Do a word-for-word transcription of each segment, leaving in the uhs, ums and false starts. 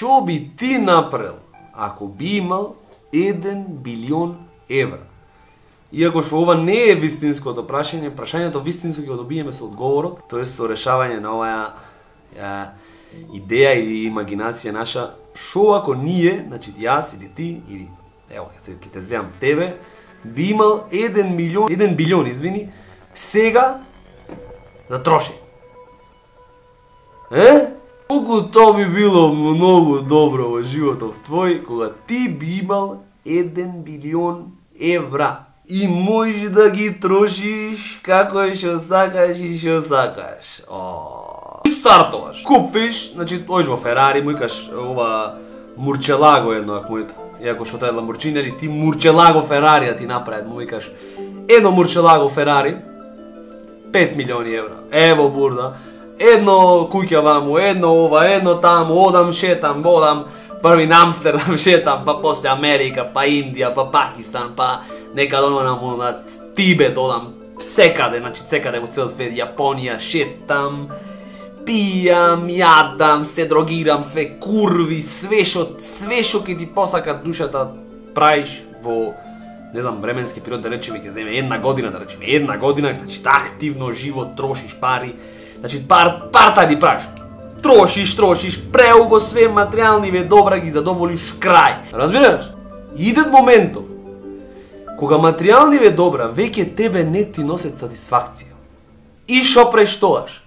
Што би ти направил ако би имал еден билион евра? Иако што ова не е вистинското прашање, прашањето вистинско ќе го добиеме со одговорот, тоа е со решавање на оваа ја, идеја или имагинација наша. Што ако ние, значи јас или ти, или ево, ќе те земам тебе, би имал еден милион, еден билион, извини, сега да троши. Е? Колку тоа би било многу добро во животов твој, кога ти би имал еден билион евра и можеш да ги трошиш како што сакаш и што сакаш. О, стартуваш, купиш, значи оиш во Ферари, му викаш ова Мурчелаго едно, ако моето, иако што тоа е Ламборджини, ти Мурчелаго Ферари да ти направат, му викаш едно Мурчелаго Ферари, пет милиони евра, ево бурда, едно куќа ваму, едно ова, едно таму, одам, шетам, одам, први на Амстердам шетам, па после Америка, па Индија, па Пакистан, па некаде одам на Тибет, одам, секаде, значи секаде во цел свет, Јапонија, шетам, пијам, јадам, се дрогирам, све курви, све што, све што ќе ти посака душата правиш во, не знам, временски период, да речеме, ќе земе една година, да речеме, една година, значи активно живот, трошиш пари, значи пар, партари правиш, трошиш, трошиш, преубо све материјални добра ги задоволиш крај. Разбираш? Идет моментов кога материјални добра веќе тебе не ти носат сатисфакција. И шо преш тоаш?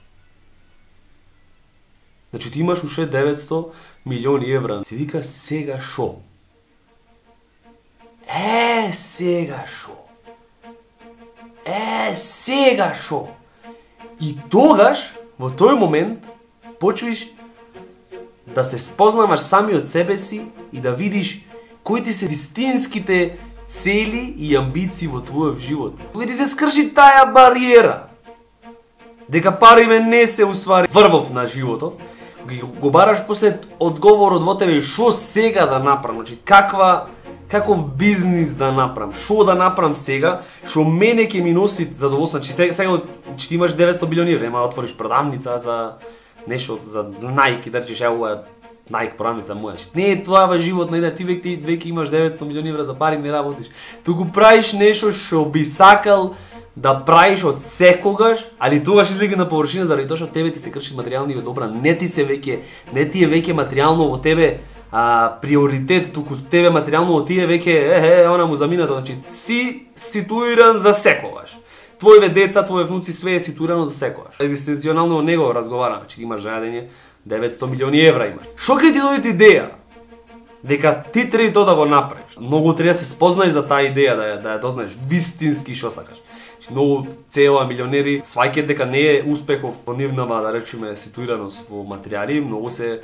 Значи ти имаш уште деветсто милиони евра. Си викаш сега шо? Е, сега шо? Е, сега шо? И тогаш, во тој момент, почвиш да се спознаваш сами од себе си и да видиш кои ти се вистинските цели и амбиции во твојот живот. Кога ти се скрши таа бариера, дека париве не се уствари врвов на животов, кога го бараш после одговорот во тебе шо сега да направам, значи каква каков бизнис да направам, шо да направам сега, шо мене ќе ми носи задоволство. Значи сега, сега че ти имаш деветсто билиони евра, нема да отвориш продавница за нешто, за Nike, да речеш ево е Nike продавница моја. Не е тоа во живот, не да ти веќе веќе имаш деветсто милиони евра за пари не работиш. Туку правиш нешто што би сакал да правиш од секогаш, али тогаш излега на површина заради тоа што тебе ти се крши материјални добра, не ти се веќе, не ти е веќе материјално во тебе а, приоритет, туку тебе материјално во тие веќе е, е, она му заминато, значи си ситуиран за секогаш. Твоите деца, твои внуци, све е ситуирано за секогаш. Екзистенционално од него разговараме, значи имаш заедење деветсто милиони евра имаш. Шо ќе ти дојде идеја дека ти треба тоа да го направиш? Многу треба да се спознаеш за таа идеја, да ја, да ја дознаеш вистински што сакаш. Многу цела милионери сваќаат дека не е успехов во нивнава, да речеме, ситуираност во материјали, многу се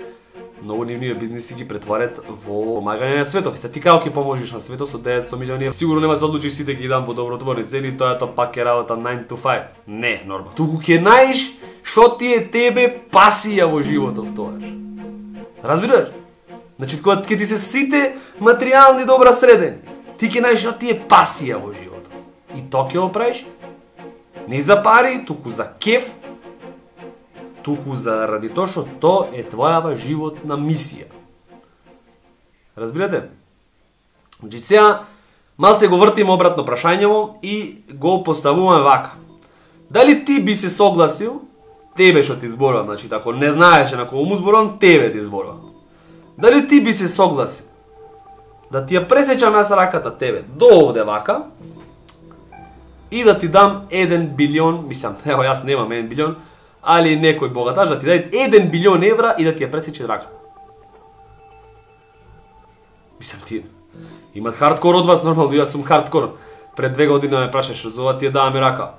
многу нивни бизниси ги претварат во помагање на светот. Се ти како ќе поможеш на светот со деветсто милиони евра? Сигурно нема се одлучиш сите ги дам во добротворни цели, тоа е тоа пак е работа nine to five. Не, нормално. Туку ќе најдеш што ти е тебе пасија во животов тоаш. Разбираш? Значи кога ќе ти се сите материјални добра средени, ти ќе најдеш што ти е пасија во животот. И тоа ќе го правиш не за пари, туку за кеф, туку заради тоа што тоа е твојава животна мисија. Разбирате? Значи сега малце го вртим обратно прашањево и го поставуваме вака. Дали ти би се согласил, тебе што ти зборувам, значи ако не знаеш на кого му зборувам, тебе ти зборувам. Дали ти би се согласил да ти ја пресечам јас раката тебе до овде вака и да ти дам еден билион, мислам, ево јас немам еден билион, али некој богаташ да ти даде еден билион евра и да ти ја пресече раката. Мислам, ти имат хардкор од вас, нормално, јас сум хардкор. Пред две години ме прашаш за ова, ти ја даваме рака.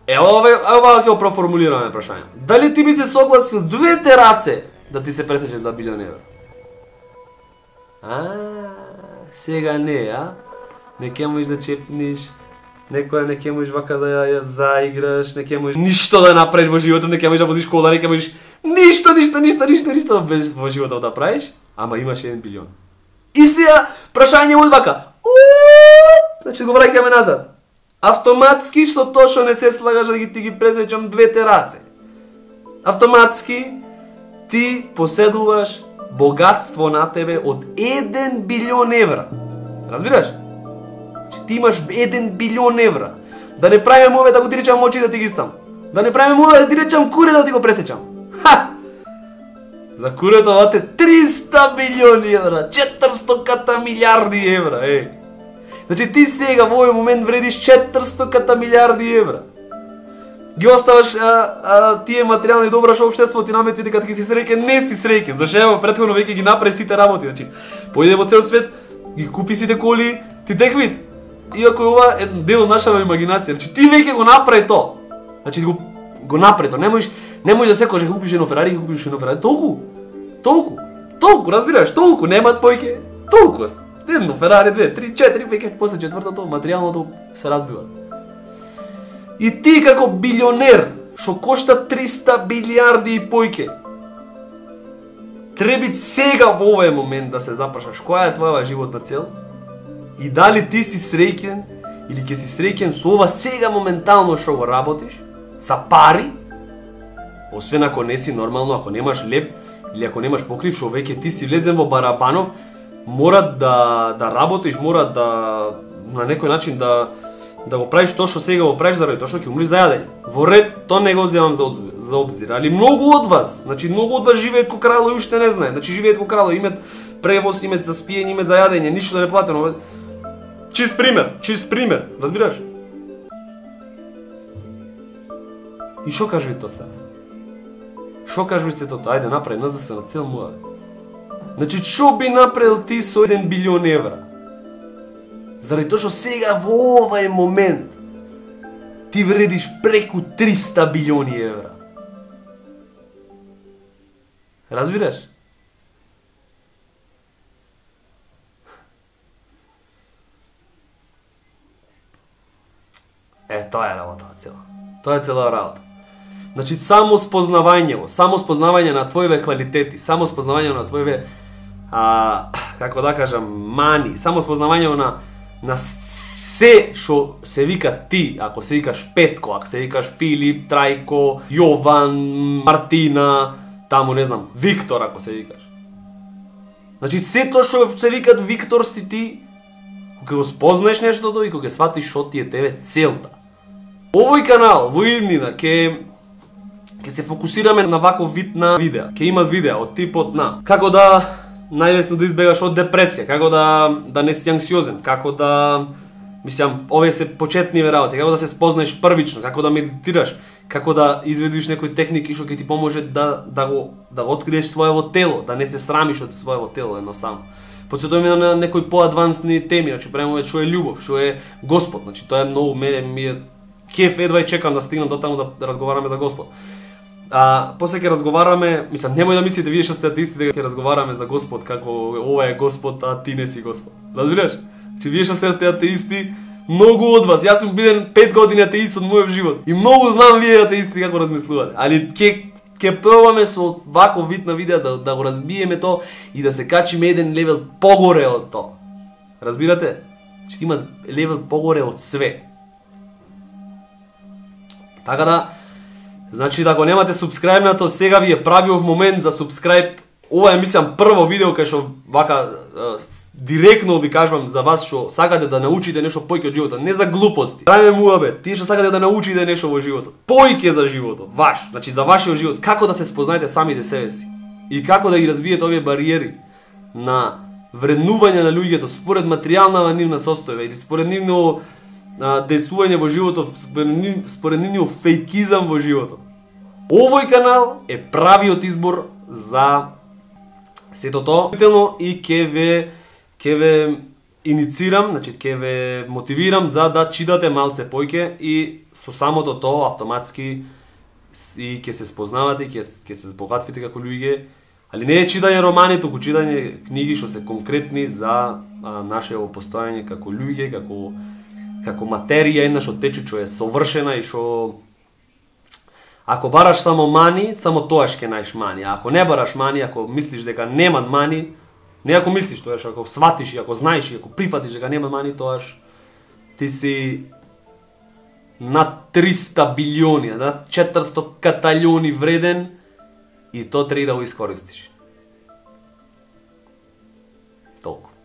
Ево ова, ова ќе го проформулираме прашање. Дали ти би се согласил двете раце да ти се пресече за билион евра? А, сега не, а? Не ќе можеш да чепниш, некоја не ќе можеш вака да ја заиграш, не ќе можеш ништо да направиш во животот, не ќе можеш да возиш кола, не ќе можеш ништо, ништо, ништо, ништо, ништо без во животот да правиш, ама имаш еден билион. И сега прашање од вака. Значи го враќаме назад. Автоматски со тоа што не се слагаш да ги ти ги презечам двете раце. Автоматски ти поседуваш богатство на тебе од еден билион евра. Разбираш? Че ти имаш еден билион евра. Да не правиме ове да го ти речам очи да ти ги стам. Да не правиме ове да ти речам куре да ти го пресечам. Ха! За курето вате триста билиони евра, четиристо милиарди евра, е. Значи ти сега во овој момент вредиш четиристо милиарди евра. Ги оставаш а, а, тие материјални добра што општеството ти наметви дека ти си среќен, не си среќен. Зашто ево претходно веќе ги направи сите работи, значи поиде во цел свет, ги купи сите коли, ти теквит. Иако ова е дел од нашава имагинација, значи ти веќе го направи то. Значи го го направи то. Не можеш не можеш да секогаш купиш едно Ферари, ги купиш едно Ферари, толку. Толку. Толку, разбираш, толку немаат појќе. Толку. Едно Ферари, две, три, четири, веќе после четвртото материјалното се разбива. И ти како билионер, што кошта триста билиарди и појќе, треби сега во овој момент да се запрашаш која е твојава животна цел и дали ти си среќен или ќе си среќен со ова сега моментално што го работиш, за пари, освен ако не си нормално, ако немаш леп или ако немаш покрив, што веќе ти си влезен во барабанов, мора да да работиш, мора да на некој начин да да го правиш тоа што сега го правиш заради тоа што ќе умреш за јадење. Во ред, тоа не го земам за, за обзир, али многу од вас, значи многу од вас живеат ко крало и уште не знае. Значи живеат ко крало, имат превоз, имат за спиење, имат за јадење, ништо да не платено. Чист пример, чист пример, разбираш? И што кажеш тоа сега? Што кажеш се тоа? Ајде направи назад се на цел муаве. Значи што би направил ти со еден билион евра? Заради тоа што сега во овој момент ти вредиш преку триста билиони евра. Разбираш? Е, тоа е работа цела. Тоа е цела работа. Значи, само спознавањево, само спознавање на твојве квалитети, само спознавање на твојве, а, како да кажам, мани, само спознавање на на се што се вика ти, ако се викаш Петко, ако се викаш Филип, Трајко, Јован, Мартина, таму не знам, Виктор ако се викаш. Значи се тоа што се викат Виктор си ти, кога го спознаеш нештото и кога ќе сватиш што ти е тебе целта. Овој канал во иднина ќе ќе се фокусираме на ваков вид на видеа. Ќе имат видеа од типот на како да најлесно да избегаш од депресија, како да да не си анксиозен, како да мислам, овие се почетниве работи, како да се спознаеш првично, како да медитираш, како да изведиш некои техники што ќе ти поможе да да го да го откриеш своево тело, да не се срамиш од своево тело едноставно. Посветуваме на некои поадвансни теми, значи према што е љубов, што е Господ, значи тоа е многу мене ми е кеф, едва и чекам да стигнам до таму да, да разговараме за Господ. А после ќе разговараме, мислам, немој да мислите вие што сте атеисти дека ќе разговараме за Господ како ова е Господ, а ти не си Господ. Разбираш? Че вие што сте атеисти, многу од вас, јас сум биден пет години атеист од мојот живот и многу знам вие атеисти како размислувате. Али ќе ќе пробаме со ваков вид на видео да, да го разбиеме тоа и да се качиме еден левел погоре од тоа. Разбирате? Че има левел погоре од све. Така да, значи да ако немате субскрајбнато, сега ви е правиот момент за субскрајб. Ова е, мислам, прво видео кај што вака е, директно ви кажувам за вас што сакате да научите нешто појќе од животот, не за глупости. Правиме муабет, тие што сакате да научите нешто во животот, појќе за животот, ваш, значи за вашиот живот, како да се спознаете самите себе си и како да ги разбиете овие бариери на вреднување на луѓето според материјалната нивна состојба или според нивно действување во животот, според нивниот фејкизам во животот. Овој канал е правиот избор за сето тоа и ќе ве ќе ве иницирам, значи ќе ве мотивирам за да читате малце појќе и со самото тоа автоматски и ќе се спознавате, ќе ќе се збогатвите како луѓе, али не е читање романи, туку читање книги што се конкретни за а, нашето постојање како луѓе, како како материја една што тече, што е совршена и што ако бараш само мани, само тоаш ќе најдеш мани. А ако не бараш мани, ако мислиш дека нема мани, не ако мислиш тоаш, ако сватиш и ако знаеш и ако прифатиш дека нема мани, тоаш ти си над триста билиони, над четиристо каталиони вреден и тоа треба да го искористиш. Толку.